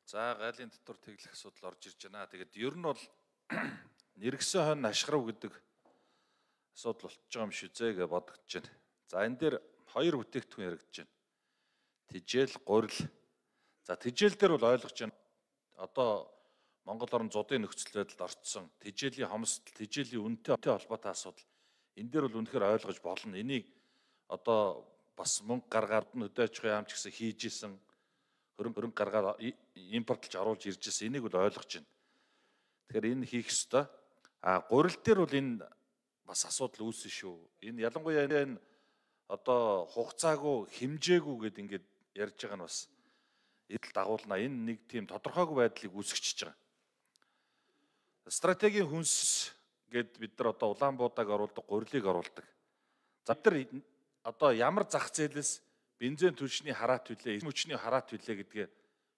За гайлын дотор тэглэх асуудал орж ирж байна. Тэгээд ер нь бол нэргсэн хойно ашгарав гэдэг асуудал болчихж байгаа юм шүү зэ гэж бодогдож байна. За энэ дээр хоёр бүтээгдэхүүн яригдж байна. Тижэл, гурил. За тижэл дээр бол ойлгож байна. Одоо Монгол орн зуудын нөхцөл байдалд орцсон тижээлийн хомсдол, тижээлийн үнэтэй холбоотой асуудал. Энэ дээр бол үнэхээр ойлгож болно. Энийг одоо бас мөнгө гаргаад нь хөдөө аж ахуйн яамч гэсэн хийж исэн хөрөнгө гаргаад импортлж оруулж ирж ирсэн. Энийг бол ойлгож байна. Тэгэхээр энэ хийх ёстой. Гурил дээр бол энэ бас асуудал үүснэ шүү. Энэ ялангуяа энэ одоо хугацаагүй, хэмжээгүй гэдээ ингээд ярьж байгаа нь бас эдэл дагуулна. Энэ нэг тийм тодорхойгүй байдлыг үүсгэж байгаа. Стратегийн хүнс гэд бид нар одоо Улаанбуудаг оруулдаг, гурилыг оруулдаг. За бид нар одоо ямар зах зээлээс бензин түлшний хараат хүлээ, мөчний хараат хүлээ гэдгээ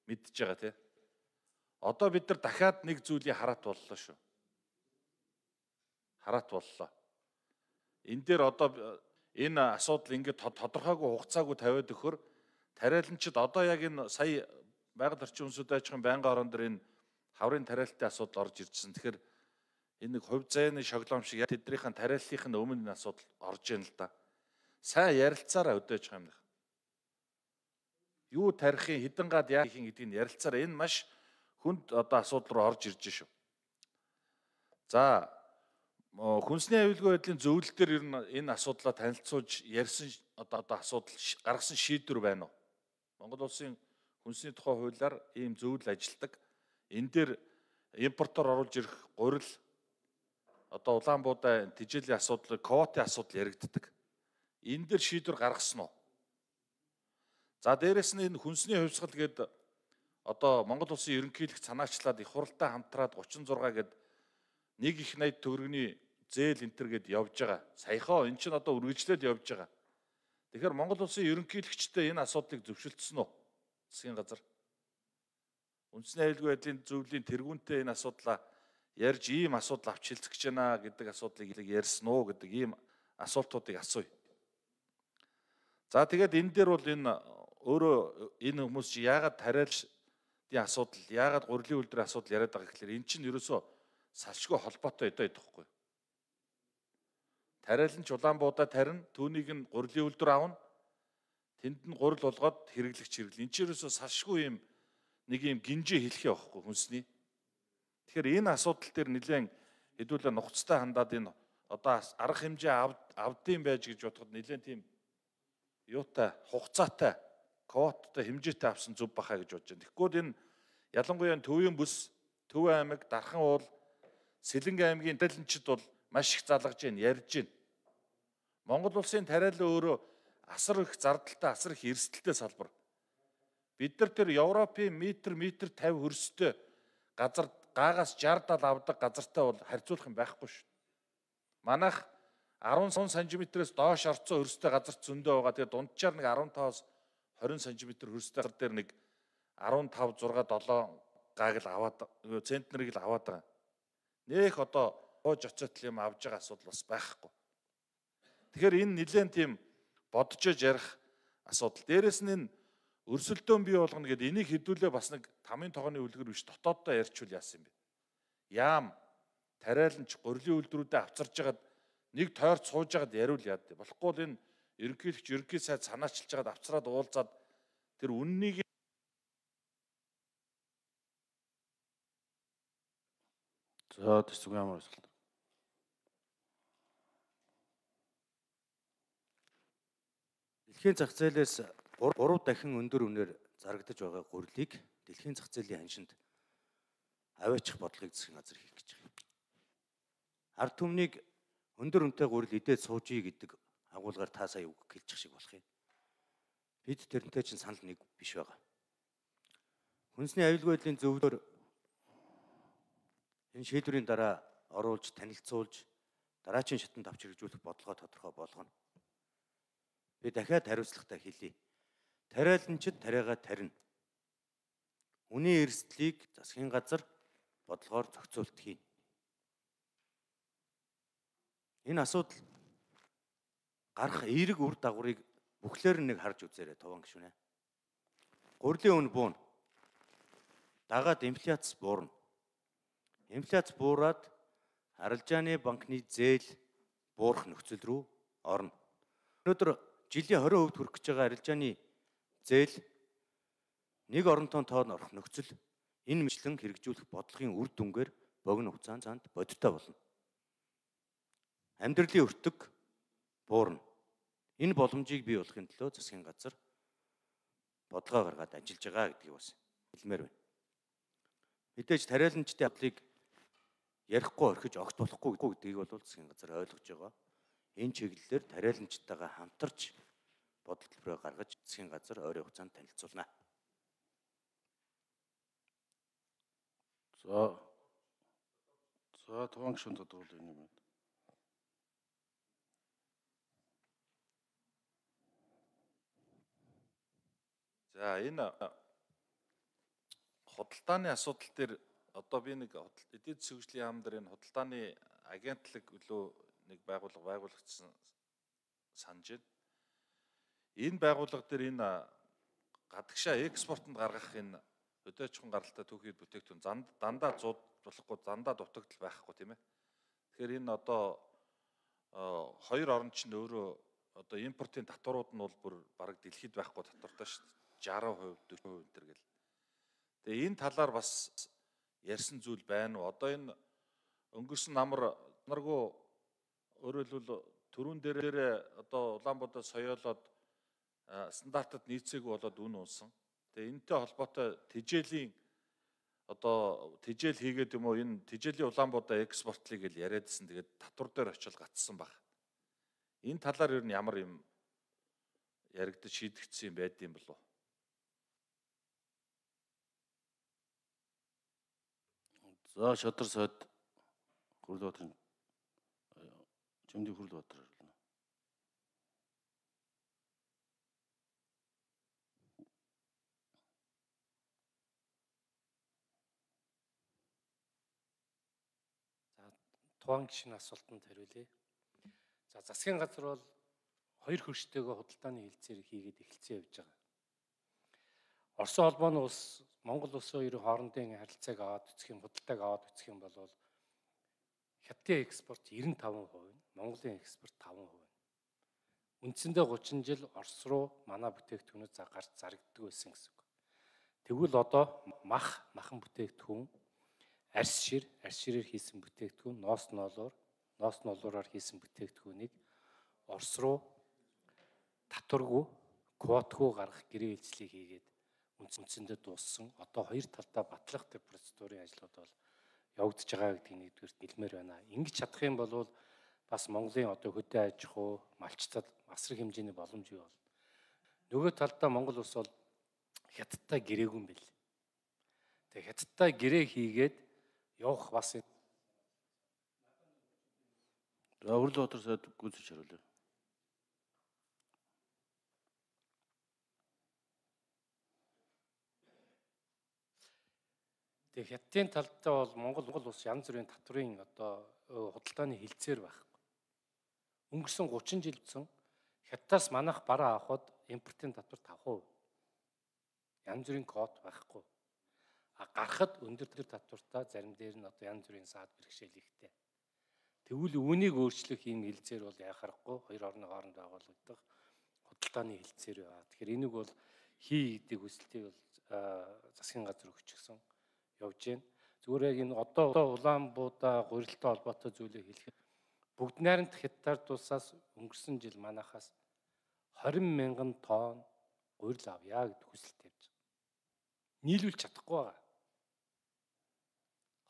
мэдж байгаа тийм. Одоо бид нар дахиад нэг зүйлийн хараат боллоо шүү. Хараат боллоо. Энэ дээр одоо энэ асуудал ингээд тодорхойгүй хугацаагүй тавиад өгөхөр тариаланчид одоо яг энэ сая байгаль орчин үндэсний аж ахуйн байнгын орон дээр энэ хаврын тариалалтын асуудал орж иржсэн. Тэгэхээр энэ нэг хувь заяаны шоглоом шиг тэднийхэн тариаллын өмнө энэ асуудал орж ийн л да. Сайн ярилцаараа өдөөж байгаа юм даа. Юу тарихын хідэн гад яах юм гэдгийг ярилцаараа энэ маш хүнд одоо асуудал руу орж ирж шүү. За хүнсний аюулгүй байдлын зөвлөл дээр ер нь энэ асуудлаа танилцуулж ярьсан одоо асуудал гаргасан шийдвэр байна уу? Монгол улсын хүнсний тухай хуулиар ийм зөвлөл ажилтдаг. Энэ дээр импортоор оруулж ирэх гурил одоо Улаанбуудаа тижээлийн асуудал, квотын асуудал яригддаг. Энэ дээр шийдвэр гаргасан уу? За дээрэс нь энэ хүнсний хувьсгал гээд одоо Монгол улсын ерөнхийлөгч санаачлаад их хуралтай хамтраад 36 гээд 1.80 төгрөгийн зээл энтер гээд явж байгаа. Саяхаа эн чинь одоо үргэлжлээд явж байгаа. Тэгэхээр Монгол улсын ерөнхийлөгчтэй энэ асуудлыг зөвшөлдсөн үү? Засгийн газар. Үндэсний аюулгүй байдлын зөвлөлийн тэргүүнтэй энэ асуудлаа ярьж ийм асуудал авч хэлцэх гэж байна гэдэг асуудлыг ярьсан уу гэдэг ийм асуултуудыг асууя. За тэгээд энэ дээр бол энэ өөрөө энэ хүмүүс чи яагаад тариалалтын асуудал, яагаад гурилын үйлдвэрийн асуудал яриад байгаа гэхээр эн чинь ерөөсөө салшгүй холбоотой өдөө идэхгүй. Тариаланч Улаанбуудаа тарина, түүнийг нь гурилын үйлдвэр авна. Тэнд нь гурил болгоод хэрэглэгч хэрэглэн. Энд чинь ерөөсөө салшгүй юм нэг юм гинжээ хэлхий байхгүй хүнсний. Тэгэхээр энэ асуудал дээр нэлээд хэдүүлээ нухацтай хандаад энэ одоо арга хэмжээ авдсан байж гэж бодоход нэлээд тийм юутай хугацаатай квоттой хэмжээтэй авсан зүв бахаа гэж бодож байна. Тэгэхгүй энэ ялангуяа Төвийн бүс, Төв аймаг, Дархан уул, Сэлэнгэ аймгийн тариаланчид бол маш их залгаж байна, ярьж байна. Монгол улсын тариалан өөрөө асар их зардалтай, асар их эрсдэлтэй салбар. Бид нар тэр Европын метр 50 хөрстэй газар гаагаас 60-70 авдаг газартай бол харьцуулах юм байхгүй шүү. Манайх 10 см-ээс доош орцсон хөрстэй газар зөндөө байгаа. Тэгээ дунджаар нэг 15-аас 20 см хөрстэй газар дээр нэг 15, 6, 7 гааг л аваад центнерийг л аваад байгаа. Нэх одоо хоож оцоотл юм авж байгаа асуудал бас байхгүй. Тэгэхээр энэ нэлээд тийм боджож ярих асуудал. Дээрэс нь энэ өрсөлдөөн бий болгоно гэдэг энийг хэдүүлээ бас нэг тамийн тогооны үлгэр биш дотооддоо ярьчвал яасан юм бэ? Яам тариаланч гурилын үйлдвэрүүдэд авчирж хагаад нэг тойрч сууж хагаад яриул яад. Болохгүй л энэ ерөнхийлөгч ерөнхий сайд санаачилж хагаад авчраад уулзаад тэр үннийг За төсөв ямар асуулт? Дэлхийн зах зээлээс 3 дахин өндөр үнээр зарагдаж байгаа гурилыг дэлхийн зах зээлийн ханшинд аваачих бодлогыг засгийн газар хийх гэж байгаа. Ард түмнийг өндөр үнэтэй гурил идээд суужий гэдэг агуулгаар та сая үг хэлчих шиг болох юм. Бид тэрнтэй чинь санал нэг биш байгаа. Хүнсний аюулгүй байдлын зөвлөөр энэ шийдвэрийн дараа оруулж танилцуулж дараачийн шатанд авч хэрэгжүүлэх бодлогоо тодорхой болгоно. Би дахиад хариуцлагатай хэлье. Тариаланчид тариагаа тарина. Үнийн эрсдлийг засгийн газар бодлогоор зохицуулт хийн. Энэ асуудал гарах эерэг үр дагаврыг бүхлээр нэг харж үзээрэй товон гишүүнэ. Гурлийн үн буuna. Дагаад инфляц буурна. Инфляц буураад арилжааны банкны зээл буурах нөхцөл рүү орно. Өнөөдөр жилийн 20% хүрэх гэж байгаа арилжааны зээл нэг оронтой тоонд орох нөхцөл энэ мэтлэн хэрэгжүүлэх бодлогын үр дүнгээр богино хугацаанд бодиттой болно. Амьдралын өртөг буурна. Энэ боломжийг бий болгохын төлөө засгийн газар бодлогоо гаргаад ажиллаж байгаа гэдгийг бас хэлмээр байна. Мэдээж тариаланчдын авдлыг ярихгүй орхиж огт болохгүй гэдгийг бол засгийн газар ойлгож байгаа. Энэ чиглэлээр тариаланчтайгаа хамтарч бодол төлбөрөө гаргаж засгийн газар ойрын хугацаанд танилцуулна. За Туван гишүүн тодруулах юм байна. За энэ худалдааны асуудал дээр одоо би нэг эдийн засгийн хөгжлийн яам дээр энэ худалдааны агентлаг өлөө нэг байгуулагдсан санаж байна. Энэ байгууллага дээр энэ гадагшаа экспортод гаргах энэ хөдөө аж ахуйн гаралтай түүхийд бүтээгдэхүүн дандаа зуудлахгүй дандаа дутагдал байхгүй тийм ээ. Тэгэхээр энэ одоо хоёр орн чинь өөрөө одоо импортын татварууд нь бол бүр бараг дэлхийд байхгүй татвартай шүү дээ. 60%, 40% төр гэл. Тэгээ энэ талаар бас ярьсан зүйл байна уу? Одоо энэ өнгөрсөн наргүй өөрөөр хэлбэл төрүүн дээрээ одоо Улаанбаатар соёолоод стандартад нийцээгүй болоод үн унсан. Тэгээ энэтэй холбоотой тэжээлийн одоо тэжээл хийгээд юм уу энэ тэжээлийн Улаанбаатар экспортлыг л яриадсэн. Тэгээд татвар дээр очил гацсан баг. Энэ талаар ер нь ямар юм яригдаж шийдэгдсэн юм байд юм болов? За Шадар сайд Хүрлбаатарын Жимдийн Хүрлбаатар хэлнэ. За Туван гишүүний асуултанд хариулъя. За засгийн газар бол хоёр хөрштэйгээ худалдааны хилцээр хийгээд эхэлсэн явж байгаа. Оросын холбооны улс Монгол улсын хоёрын хоорондын харилцааг аваад үзэх юм, худалдааг аваад үзэх юм бол Хятадын экспорт 95%, Монголын экспорт 5%. Үндсэндээ 30 жил Орос руу манай бүтээгдэхүүнүүд гарч зарагддаг байсан гэсэн үг. Тэгвэл одоо махан бүтээгдэхүүн, арьс ширээр хийсэн бүтээгдэхүүн, ноос ноолуураар хийсэн бүтээгдэхүүнийг Орос руу татваргүй, квотгүй гаргах гэрээ үйлчлийг хийгээд үндсэндээ дууссан. Одоо хоёр талдаа батлах тэр процедурын ажлууд бол явагдаж байгаа гэдгийг нэгдүгээр хэлмээр байна. Ингэж чадах юм бол бас Монголын одоо хөдөө аж ахуй, малчтад масрах хэмжээний боломж бий болно. Нөгөө талдаа Монгол улс бол Хятадтай гэрээгүй юм бэл. Тэгээ Хятадтай гэрээ хийгээд явах бас За Хүрлбаатар сайд гүйцэж хариулъя. Тэгээ Хятадын талдаа бол Монгол улс янз бүрийн татврын одоо худалдааны хилцээр байхгүй. Өнгөрсөн 30 жил утсан Хятадаас манайх бараа авахд импортын татвар 5%. Янз бүрийн код байхгүй. Гарахад өндөр татвартай зарим дээр нь одоо янз бүрийн саад бэрхшээл ихтэй. Тэгвэл үүнийг өөрчлөх юм хилцээр бол яхахгүй хоёр орны хооронд байгуулагдах худалдааны хилцээр байна. Тэгэхээр энийг бол гэдэг хүсэлтийг бол засгийн газар өгчихсөн явж байна. Зүгээр яг энэ одоо Улаанбаатар гурилтай холбоотой зүйлийг хэлэхэд бүгд найрамд Хятадд тусаас өнгөрсөн жил манайхаас 20,000 тонн гурил авъя гэдэг хүсэлт тавьж байгаа. Нийлүүлж чадахгүй байгаа.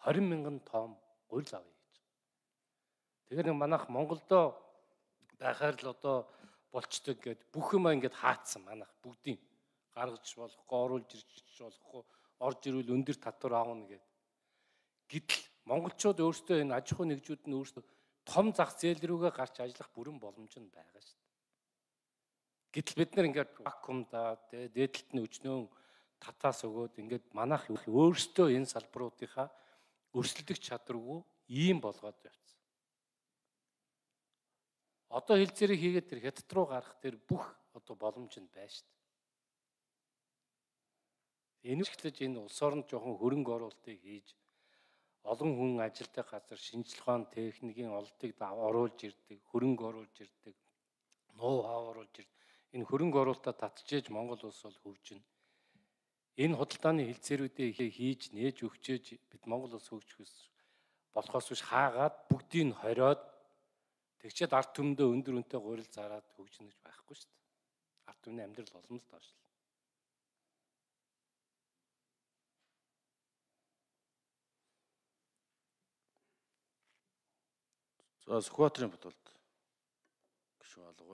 20,000 тонн гурил авъя гэж. Тэгэхээр манайх Монголдо байхаар л одоо болчдөг гэд бүх юм ингээд хаацсан манайх бүгдийн гаргаж болохгүй, оруулж ирж болохгүй, орж ирвэл өндөр татвар аавна гэд. Гэтэл монголчууд өөрсдөө энэ аж ахуй нэгжүүд нь өөрсдөө том зах зээл рүүгээ гарч ажиллах бүрэн боломж нь байгаа шүү дээ. Гэтэл бид нар ингээд вакуумда дээдлэлт нь өчнөө татаас өгөөд ингээд манайх өөрсдөө энэ салбаруудынхаа өрсөлдөх чадваргүй ийм болгоод явцсан. Одоо хилцээрийг хийгээд тэр Хятад руу гарах тэр бүх одоо боломж нь байна шүү дээ. Энэ ихлэж энэ улс оронд жоохон хөрөнгө оруулалтыг хийж олон хүн ажилтдаг газар шинжлэх ухааны техникийн олдыг оруулж ирдэг, хөрөнгө оруулж ирдэг, ноу хав оруулж ирдэг. Энэ хөрөнгө оруулалтаа татчихээж Монгол улс бол хөгжинэ. Энэ худалдааны хэлцээрүүдээ хийж нээж өгчөөж бид Монгол улс хөгжих болохоос биш хаагаад бүгдийг хориод тэгчээд ард түмэндээ өндөр үнэтэй гурил зараад хөгжинэ гэж байхгүй шүү дээ. Ард түмний амьдрал олон л доошлоо. За Сүхбаатарын бодволд гишүүн алга.